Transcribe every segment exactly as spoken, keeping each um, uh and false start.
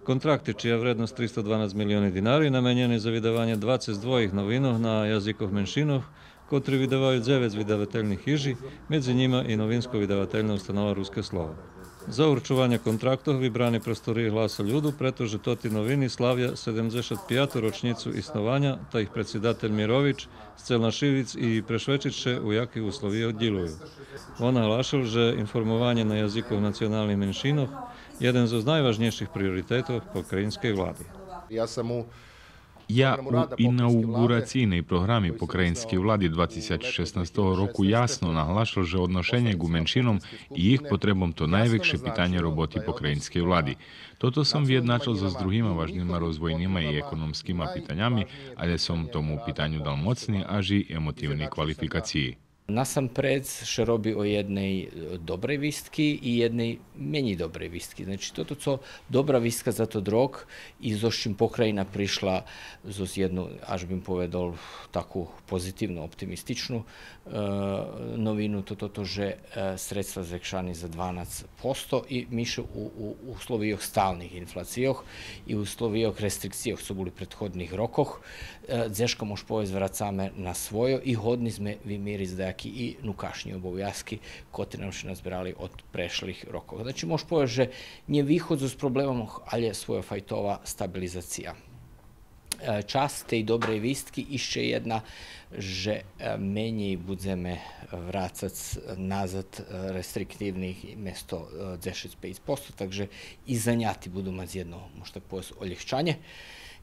Kontrakty, čija vrednost tristo dvanásť milióny dinari, namenjeni za vydavanje dvadeset dva novinov na jazikoh menšinov, kotri vydavajú devet vydavateljnih hiži, među njima i novinsko vydavateljna ustanova Ruske slovo. Za určovanje kontraktov vybrani prostoriji Glasa ľudu, pretože toti novini slavia sedemdesiat piatu ročnicu isnovanja, ta ih predsjedatelj Mirović, Scelnašivic i Prešvečiće u jakih uslovijah djeluju. On naglašal, že informovanje na jazikoh nacionalnih menšinov jeden z najvažnejších prioritetov pokrajinskej vladi. Ja sam u Ja u inauguracійній програмі Покраїнської влади двадцять шістнадцятого року ясно наголошив, що відношення к меншинам і їх потребам то найвикше питання роботи Покраїнської влади. Toto som vyjednačil so s druhými vážnymi rozvojnými i ekonomickými pitaniami, ale som tomu pitanju dal mocný až i emotivní kvalifikaciji. Насамперед ще роби о jednej dobrej вістки і jednej meni dobrej вістки. Znači, toto co dobra вістка za to rok i zo čim pokrajina prišla zo jednu, až bym povedal, takú pozitívnu, optimističnu e, novinu, to toto, že e, sredstva zvekšani za dvanásť posto i miše u, u uslovijoh stalnih inflacijoh i u uslovijoh restrikcijoh, co boli prethodnih rokoh, e, dzeška mož povez vracame na svojo i hodni sme vymiri zdajaki i nukašnji obovjazki, kotri nam še nazbirali od prešlih rokov. Znači, mož povez, že nje východ z problemom, ali je svoja fajtova stabilizacija. Čas tej dobrej výstky išće jedna, že menji budzeme vracac nazad restriktivnih mjesto deset pet posto, takže i zanjati budu mać jedno, možda povez, oljehčanje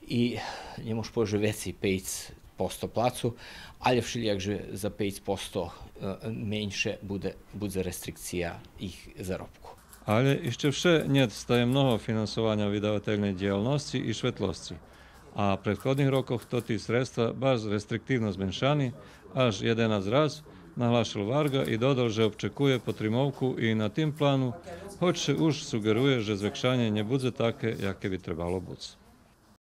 i nje mož povez, že veci pet posto placu, ali všelijak, že za pet posto menše bude, bude restrikcija ich zarobku. Ale ešte vše niet staje mnoho finansovania vydavatelnej dielnosti i švetlosti. A v prethodných rokoch toti sredstva baš restriktívno zmenšani, až jedenásť raz, nahlášil Varga i dodal, že občekuje potrimovku i na tým plánu, hoć už sugeruje, že zvekšanie nebude také, jaké by trebalo buď.